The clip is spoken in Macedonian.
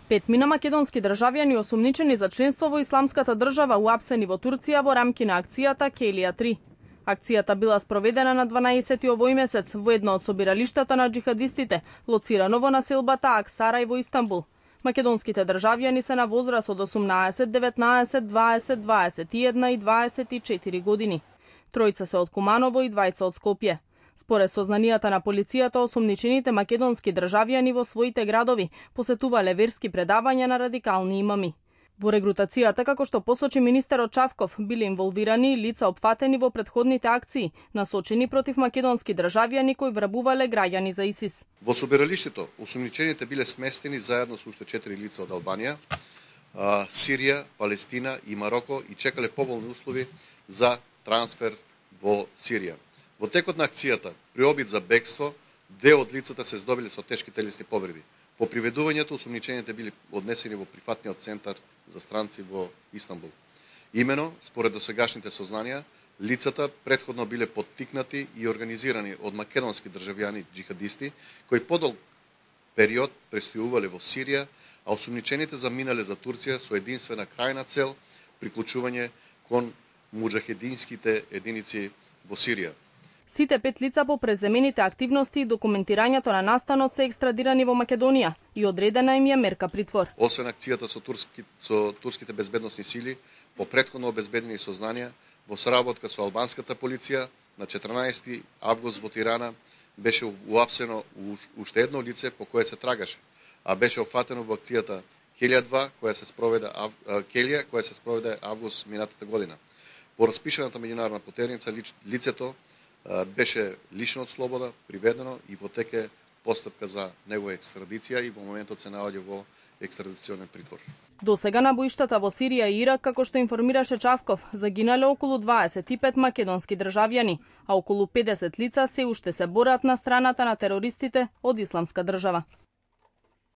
Петмина македонски државјани осумничени за членство во исламската држава уапсени во Турција во рамки на акцијата Келија 3. Акцијата била спроведена на 12 овој месец во едно од собиралиштата на джихадистите, лоцирано во населбата Аксарај во Истанбул. Македонските државјани се на возраст од 18, 19, 20, 21 и 24 години. Тројца се од Куманово и двајца од Скопје. Според сознанијата на полицијата, осумничените македонски државјани во своите градови посетувале верски предавања на радикални имами. Во регрутацијата, како што посочи министерот Чавков, биле инволвирани лица опфатени во претходните акции, насочени против македонски државјани кои врабувале граѓани за ИСИС. Во собиралиштето осумничените биле сместени заедно со уште 4 лица од Албанија, Сирија, Палестина и Мароко и чекале поволни услови за трансфер во Сирија. Во текот на акцијата, при обид за бегство, две од лицата се здобиле со тешки телесни повреди. По приведувањето, осумничените били однесени во прифатниот центар за странци во Истанбул. Имено, според досегашните сознанија, лицата претходно биле поттикнати и организирани од македонски државјани джихадисти, кои подолг период престојувале во Сирија, а осумничените заминале за Турција со единствена крајна цел приклучување кон муџахединските единици во Сирија. Сите 5 лица по преземените активности и документирањето на настанот се екстрадирани во Македонија и одредена им е мерка притвор. Освен акцијата со турските безбедносни сили, по претходно обезбедени сознанија, во соработка со албанската полиција, на 14 август во Тирана беше уапсено уште едно лице по кое се трагаше, а беше опфатено во акцијата Келија 2, која се спроведе август минатата година. По распишаната меѓународна потерница лицето беше лишено од слобода, приведено и во теке постапка за негова екстрадиција и во моментот се наоѓа во екстрадиционен притвор. До сега на боиштата во Сирија и Ирак, како што информираше Чавков, загинале околу 25 македонски државјани, а околу 50 лица се уште се борат на страната на терористите од Исламска држава.